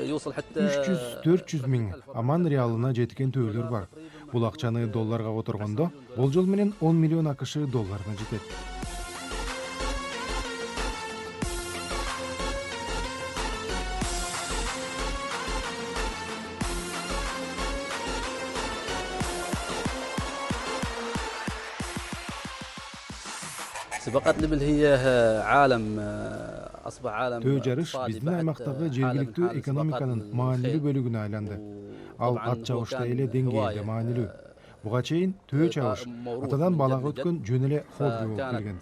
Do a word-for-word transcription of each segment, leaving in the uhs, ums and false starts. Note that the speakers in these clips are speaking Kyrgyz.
үч жүз төрт жүз миң аман реалына жеткен төөлөр бар. Бул акчаны долларга которгондо болжол менен он миллион акш долларына жетет. Төө жарыш биздин аймактагы жергиликтүү экономиканын маанилүү бөлүгүнө айланды. Ал ат чабышта эле деңгээлде маанилүү. Буга чейин төө чабыш атадан балага өткөн жөн эле хобби болуп келген.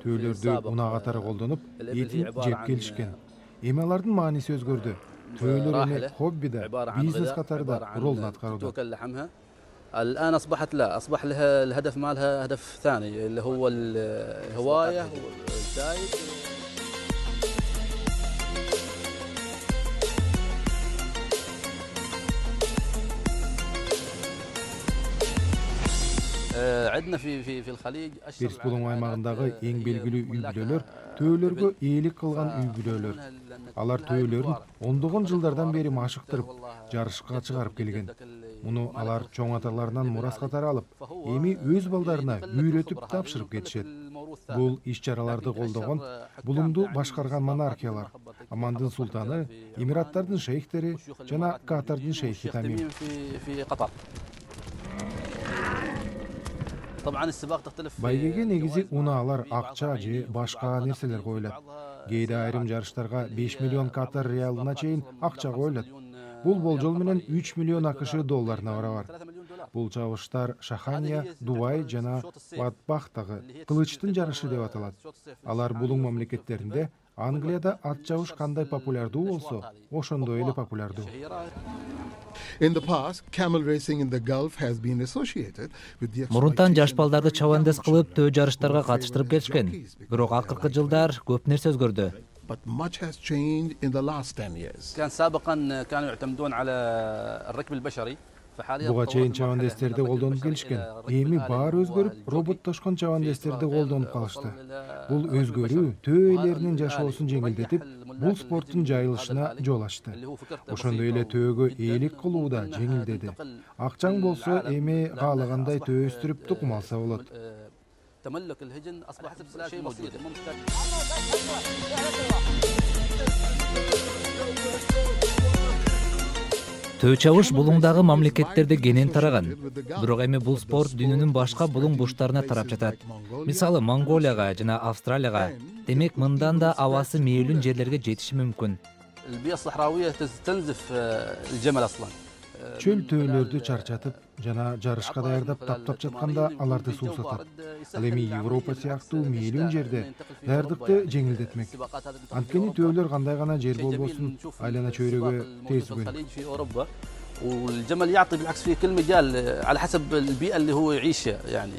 Төөлөрдү унаа катары колдонуп, этин жеп келишкен. Эми алардын мааниси өзгөрдү. Төөлөр эми хобби да, бизнес катары да ролун аткарууда. الآن أصبحت لا أصبح لها الهدف مالها هدف ثاني اللي هو الهواية والزايد. عندنا في في في الخليج Персполуң аймагындагы эң белгилүү үй бүлөлөр төөлөргө ээлик кылган үй бүлөлөр. Алар төөлөрүн ондогон жылдардан бери машыктырып, жарышка чыгарып келген. Муну алар чоң аталарынан мурас катары алып, эми өз балдарына үйрөтүп тапшырып кетишет. Бул иш-чараларды колдогон булумду башкарган монархиялар: Амандын султаны, Эмираттардын шейхтери жана Катардын шейхи Тамим. Байгеге негизи унаалар, акча же башка нерселер коюлат. Кээде айрым жарыштарга беш миллион Катар реалына чейин акча коюлат. Бул болжол менен үч миллион акш долларына барабар. Бул чабыштар Шахания, Дубай жана Батбахтагы кылычтын жарышы деп аталат. Алар булуң мамлекеттеринде Англияда ат чабыш кандай популярдуу болсо, ошондой эле популярдуу. Мурунтан жаш балдарды чабандес кылып төө жарыштарга катыштырып келишкен. Бирок акыркы жылдар көп нерсе өзгөрдү. But much has changed in the last ten years. كان سابقا كانوا يعتمدون على الركب البشري. Буга чейин чабандестерди колдонуп келишкен. Эми баары өзгөрүп, роботтошкон чабандестерди колдонуп калышты. Бул өзгөрүү төө ээлеринин жашоосун жеңилдетип, бул спорттун жайылышына жол ачты. Ошондой эле төөгө ээлик кылуу да жеңилдеди. Акчаң болсо, эми каалагандай төө өстүрүп тукум алса болот. تملك الهجن أصبح شيء بسيط ممكن. Төө чабыш булуңдагы мамлекеттерде кенен тараган. Бирок эми бул спорт дүйнөнүн башка булуң бурчтарына тарап жатат. Мисалы Монголияга жана Австралияга. Демек мындан да абасы мээлүүн жерлерге жетиши мүмкүн. البيئة الصحراوية تستنزف الجمل أصلاً. Чөл төөлөрдү чарчатып жана жарышка даярдап таптап жатканда аларды суусатат. Ал эми Европа сыяктуу мээлүүн жерде даярдыкты жеңилдетмек. Анткени төөлөр кандай гана жер болбосун айлана чөйрөгө тез والجمل يعطي بالعكس في كل مجال على حسب البيئة اللي هو يعيشها يعني